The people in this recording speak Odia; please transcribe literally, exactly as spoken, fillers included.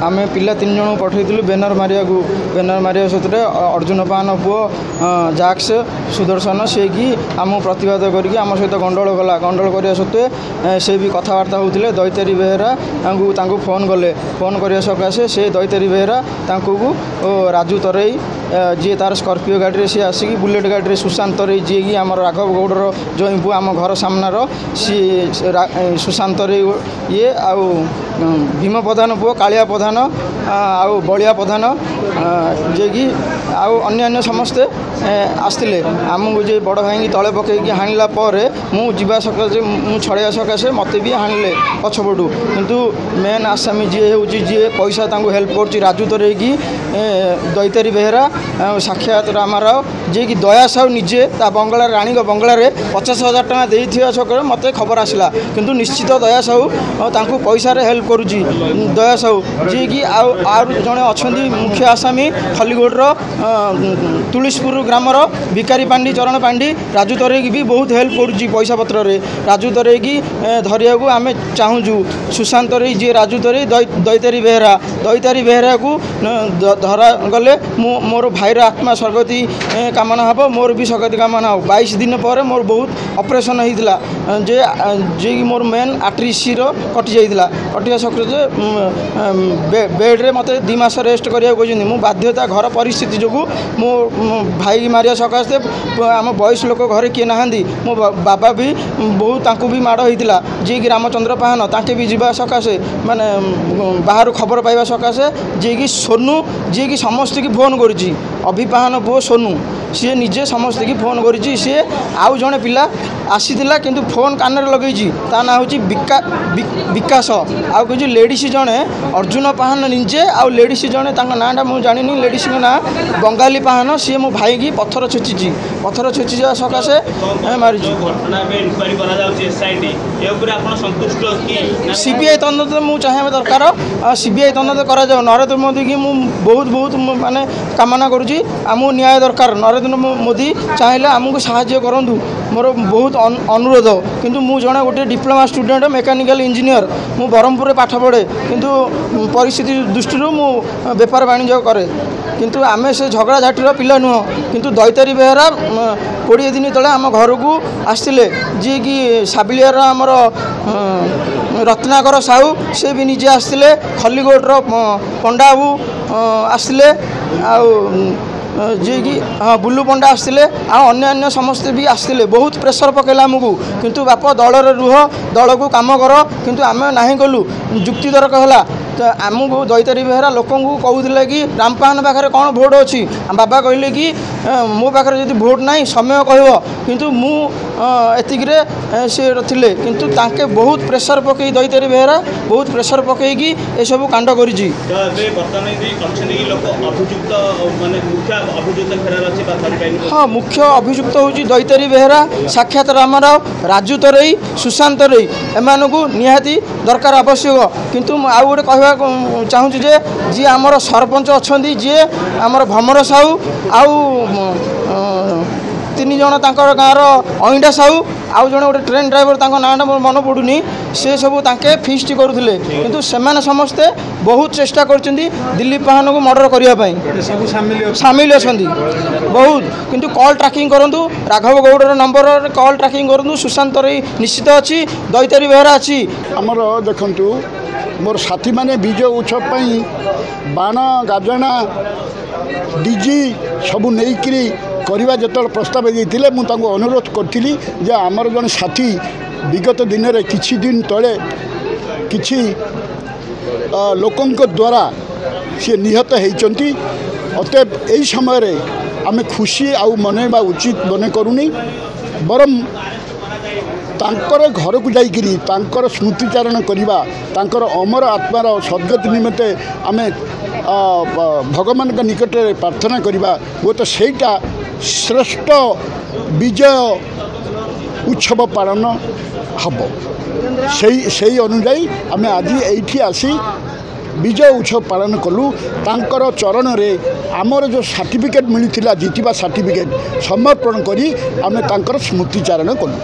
ଆମେ ପିଲା ତିନି ଜଣଙ୍କୁ ପଠାଇଥିଲୁ ବ୍ୟାନର ମାରିବାକୁ। ବ୍ୟାନର ମାରିବା ସତରେ ଅର୍ଜୁନ ପାହାନ ପୁଅ ଜାକ୍ସ ସୁଦର୍ଶନ ସିଏକି ଆମକୁ ପ୍ରତିବାଦ କରିକି ଆମ ସହିତ ଗଣ୍ଡଗୋଳ କଲା। ଗଣ୍ଡଗୋଳ କରିବା ସତ୍ତ୍ୱେ ସେ ବି କଥାବାର୍ତ୍ତା ହେଉଥିଲେ। ଦୈତାରୀ ବେହେରା ତାଙ୍କୁ ତାଙ୍କୁ ଫୋନ୍ କଲେ। ଫୋନ୍ କରିବା ସକାଶେ ସେ ଦୈତାରୀ ବେହେରା ତାଙ୍କୁ ରାଜୁ ତରେଇ ଯିଏ ତାର ସ୍କର୍ପିଓ ଗାଡ଼ିରେ ସିଏ ଆସିକି ବୁଲେଟ୍ ଗାଡ଼ିରେ ସୁଶାନ୍ତ ତରେଇ ଯିଏକି ଆମର ରାଘବ ଗୌଡ଼ର ଜୋଇଁ ପୁଅ ଆମ ଘର ସାମ୍ନାର ସିଏ ସୁଶାନ୍ତ ତରେଇ ଇଏ ଆଉ ଭୀମ ପ୍ରଧାନ ପୁଅ କାଳିଆ ପ୍ରଧାନ ଆଉ ବଳିଆ ପ୍ରଧାନ ଯିଏକି ଆଉ ଅନ୍ୟାନ୍ୟ ସମସ୍ତେ ଆସିଥିଲେ। ଆମକୁ ଯେ ବଡ଼ ଭାଇଙ୍କି ତଳେ ପକାଇକି ହାଣିଲା ପରେ ମୁଁ ଯିବା ସକାଶେ ମୁଁ ଛଡ଼େଇବା ସକାଶେ ମୋତେ ବି ହାଣିଲେ ପଛପଟୁ। କିନ୍ତୁ ମେନ୍ ଆସାମୀ ଯିଏ ହେଉଛି ଯିଏ ପଇସା ତାଙ୍କୁ ହେଲ୍ପ କରୁଛି ରାଜୁ ତରେଇକି ଦୈତାରୀ ବେହେରା ଆଉ ସାକ୍ଷାତ ରାମାରାଓ ଯିଏକି ଦୟା ସାହୁ ନିଜେ ତା ବଙ୍ଗଳାରେ ରାଣୀଙ୍କ ବଙ୍ଗଳାରେ ପଚାଶ ହଜାର ଟଙ୍କା ଦେଇଥିବା ସକାଳେ ମୋତେ ଖବର ଆସିଲା। କିନ୍ତୁ ନିଶ୍ଚିତ ଦୟା ସାହୁ ତାଙ୍କୁ ପଇସାରେ ହେଲ୍ପ କରୁଛି ଦୟା ସାହୁ ଯିଏକି ଆଉ ଆଉ ଜଣେ ଅଛନ୍ତି ମୁଖ୍ୟ ଆସାମୀ ଖଲିଗୋଡ଼ର ତୁଳସୀପୁର ଗ୍ରାମର ଭିକାରୀ ପାଣ୍ଡି ଚରଣ ପାଣ୍ଡି ରାଜୁ ତରେଇକି ବି ବହୁତ ହେଲ୍ପ କରୁଛି ପଇସା ପତ୍ରରେ। ରାଜୁ ତରେଇକି ଧରିବାକୁ ଆମେ ଚାହୁଁଛୁ। ସୁଶାନ୍ତ ତରେଇ ଯିଏ ରାଜୁ ତରେଇ ଦୈତାରୀ ବେହେରା ଦୈତାରୀ ବେହେରାକୁ ଧରା ଗଲେ ମୁଁ ମୋର ଭାଇର ଆତ୍ମା ସଦ୍ଗତି କାମନା ହେବ, ମୋର ବି ସଦ୍ଗତି କାମନା ହେବ। ବାଇଶ ଦିନ ପରେ ମୋର ବହୁତ ଅପରେସନ୍ ହେଇଥିଲା ଯେ ଯିଏକି ମୋର ମେନ୍ ଆର୍ଟେରୀ ଶିର କଟି ଯାଇଥିଲା। କଟିବା ସକାଶେ ବେଡ଼୍ରେ ମୋତେ ଦୁଇ ମାସ ରେଷ୍ଟ କରିବାକୁ କହିଛନ୍ତି। ମୁଁ ବାଧ୍ୟତା ଘର ପରିସ୍ଥିତି ଯୋଗୁଁ ମୋ ଭାଇ ମାରିବା ସକାଶେ ଆମ ବୟସ ଲୋକ ଘରେ କିଏ ନାହାନ୍ତି। ମୋ ବାବା ବି ବହୁତ ତାଙ୍କୁ ବି ମାଡ଼ ହେଇଥିଲା ଯିଏକି ରାମଚନ୍ଦ୍ର ପାହାନ ତାଙ୍କେ ବି ଯିବା ସକାଶେ ମାନେ ବାହାରୁ ଖବର ପାଇବା ସକାଶେ ଯିଏକି ସୋନୁ ଯିଏକି ସମସ୍ତଙ୍କୁ ଫୋନ୍ କରୁଛି ଅଭି ପାହାନ ପୁଅ ସୋନୁ ସିଏ ନିଜେ ସମସ୍ତଙ୍କୁ ଫୋନ୍ କରିଛି। ସିଏ ଆଉ ଜଣେ ପିଲା ଆସିଥିଲା କିନ୍ତୁ ଫୋନ୍ କାନରେ ଲଗେଇଛି ତା ନାଁ ହେଉଛି ବିକା ବିକାଶ। ଆଉ କିଛି ଲେଡ଼ିସ୍ ଜଣେ ଅର୍ଜୁନ ପାହାନ ନିଜେ ଆଉ ଲେଡ଼ିସ୍ ଜଣେ ତାଙ୍କ ନାଁଟା ମୁଁ ଜାଣିନି ଲେଡ଼ିସ୍ଙ୍କ ନାଁ ବଙ୍ଗାଳୀ ପାହାନ ସିଏ ମୋ ଭାଇକି ପଥର ଛେଚିଛି। ପଥର ଛେଚି ଯିବା ସକାଶେ ମାରିଛି। ସିବିଆଇ ତଦନ୍ତ ମୁଁ ଚାହିଁବା ଦରକାର। ସିବିଆଇ ତଦନ୍ତ କରାଯାଉ। ନରେନ୍ଦ୍ର ମୋଦିକି ମୁଁ ବହୁତ ବହୁତ ମାନେ କାମନା କରୁଛି। ଆମକୁ ନ୍ୟାୟ ଦରକାର। ନରେନ୍ଦ୍ର ମୋଦି ଚାହିଁଲେ ଆମକୁ ସାହାଯ୍ୟ କରନ୍ତୁ, ମୋର ବହୁତ ଅନୁରୋଧ। କିନ୍ତୁ ମୁଁ ଜଣେ ଗୋଟିଏ ଡିପ୍ଲୋମା ଷ୍ଟୁଡେଣ୍ଟ ମେକାନିକାଲ ଇଞ୍ଜିନିୟର, ମୁଁ ବ୍ରହ୍ମପୁରରେ ପାଠ ପଢ଼େ କିନ୍ତୁ ପରିସ୍ଥିତି ଦୃଷ୍ଟିରୁ ମୁଁ ବେପାର ବାଣିଜ୍ୟ କରେ। କିନ୍ତୁ ଆମେ ସେ ଝଗଡ଼ାଝାଟିର ପିଲା ନୁହଁ। କିନ୍ତୁ ଦୈତାରୀ ବେହେରା କୋଡ଼ିଏ ଦିନ ତଳେ ଆମ ଘରକୁ ଆସିଥିଲେ ଯିଏକି ସାବିଲିଆର ଆମର ରତ୍ନାକର ସାହୁ ସେ ବି ନିଜେ ଆସିଥିଲେ। ଖଲିକୋଟର ପଣ୍ଡା ବାବୁ ଆସିଥିଲେ ଆଉ ଯିଏକି ହଁ ବୁଲୁ ପଣ୍ଡା ଆସିଥିଲେ ଆଉ ଅନ୍ୟାନ୍ୟ ସମସ୍ତେ ବି ଆସିଥିଲେ। ବହୁତ ପ୍ରେସର ପକାଇଲା ଆମକୁ କିନ୍ତୁ ବାପ ଦଳରେ ରୁହ, ଦଳକୁ କାମ କର, କିନ୍ତୁ ଆମେ ନାହିଁ କଲୁ। ଯୁକ୍ତିତର୍କ ହେଲା ତ ଆମକୁ ଦୈତାରୀ ବେହେରା ଲୋକଙ୍କୁ କହୁଥିଲେ କି ରାମପାହାନ ପାଖରେ କ'ଣ ଭୋଟ୍ ଅଛି। ବାବା କହିଲେ କି ମୋ ପାଖରେ ଯଦି ଭୋଟ୍ ନାହିଁ ସମୟ କହିବ, କିନ୍ତୁ ମୁଁ ଏତିକିରେ ସେ ଥିଲେ। କିନ୍ତୁ ତାଙ୍କେ ବହୁତ ପ୍ରେସର ପକାଇ ଦୈତାରୀ ବେହେରା ବହୁତ ପ୍ରେସର ପକାଇକି ଏସବୁ କାଣ୍ଡ କରିଛି। ହଁ, ମୁଖ୍ୟ ଅଭିଯୁକ୍ତ ହେଉଛି ଦୈତାରୀ ବେହେରା, ସାକ୍ଷାତ ରାମାରାଓ, ରାଜୁ ତରେଇ, ସୁଶାନ୍ତ ତରେଇ। ଏମାନଙ୍କୁ ନିହାତି ଦରକାର ଆବଶ୍ୟକ। କିନ୍ତୁ ମୁଁ ଆଉ ଗୋଟେ କହିବାକୁ ଚାହୁଁଛି ଯେ ଯିଏ ଆମର ସରପଞ୍ଚ ଅଛନ୍ତି ଯିଏ ଆମର ଭମର ସାହୁ ଆଉ ତିନି ଜଣ ତାଙ୍କର ଗାଁର ଅଇଣ୍ଡା ସାହୁ ଆଉ ଜଣେ ଗୋଟେ ଟ୍ରେନ୍ ଡ୍ରାଇଭର ତାଙ୍କ ନାଁଟା ମୋର ମନେ ପଡ଼ୁନି, ସେ ସବୁ ତାଙ୍କେ ଫିଷ୍ଟ କରୁଥିଲେ। କିନ୍ତୁ ସେମାନେ ସମସ୍ତେ ବହୁତ ଚେଷ୍ଟା କରିଛନ୍ତି ଦିଲ୍ଲୀପ ପାହାନକୁ ମର୍ଡ଼ର କରିବା ପାଇଁ, ସାମିଲ ଅଛନ୍ତି ବହୁତ। କିନ୍ତୁ କଲ୍ ଟ୍ରାକିଂ କରନ୍ତୁ, ରାଘବ ଗୌଡ଼ର ନମ୍ବରରେ କଲ୍ ଟ୍ରାକିଂ କରନ୍ତୁ। ସୁଶାନ୍ତ ତରେଇ ନିଶ୍ଚିତ ଅଛି, ଦୈତାରୀ ବେହେରା ଅଛି। ଆମର ଦେଖନ୍ତୁ ମୋର ସାଥୀମାନେ ବିଜୟ ଉତ୍ସବ ପାଇଁ ବାଣ ଗାଜଣା ଡିଜି ସବୁ ନେଇକରି କରିବା ଯେତେବେଳେ ପ୍ରସ୍ତାବ ଦେଇଥିଲେ ମୁଁ ତାଙ୍କୁ ଅନୁରୋଧ କରିଥିଲି ଯେ ଆମର ଜଣେ ସାଥୀ ବିଗତ ଦିନରେ କିଛି ଦିନ ତଳେ କିଛି ଲୋକଙ୍କ ଦ୍ୱାରା ସିଏ ନିହତ ହେଇଛନ୍ତି। ଅତଏବ ଏହି ସମୟରେ ଆମେ ଖୁସି ଆଉ ମନେଇବା ଉଚିତ ମନେ କରୁନି, ବରଂ ତାଙ୍କର ଘରକୁ ଯାଇକରି ତାଙ୍କର ସ୍ମୃତିଚାରଣ କରିବା, ତାଙ୍କର ଅମର ଆତ୍ମାର ସଦ୍ଗତି ନିମନ୍ତେ ଆମେ ଭଗବାନଙ୍କ ନିକଟରେ ପ୍ରାର୍ଥନା କରିବା, ହୁଏତ ସେଇଟା ଶ୍ରେଷ୍ଠ ବିଜୟ ଉତ୍ସବ ପାଳନ ହେବ। ସେଇ ସେଇ ଅନୁଯାୟୀ ଆମେ ଆଜି ଏଇଠି ଆସି ବିଜୟ ଉତ୍ସବ ପାଳନ କଲୁ। ତାଙ୍କର ଚରଣରେ ଆମର ଯେଉଁ ସାର୍ଟିଫିକେଟ୍ ମିଳିଥିଲା ଜିତିବା ସାର୍ଟିଫିକେଟ୍ ସମର୍ପଣ କରି ଆମେ ତାଙ୍କର ସ୍ମୃତିଚାରଣ କଲୁ।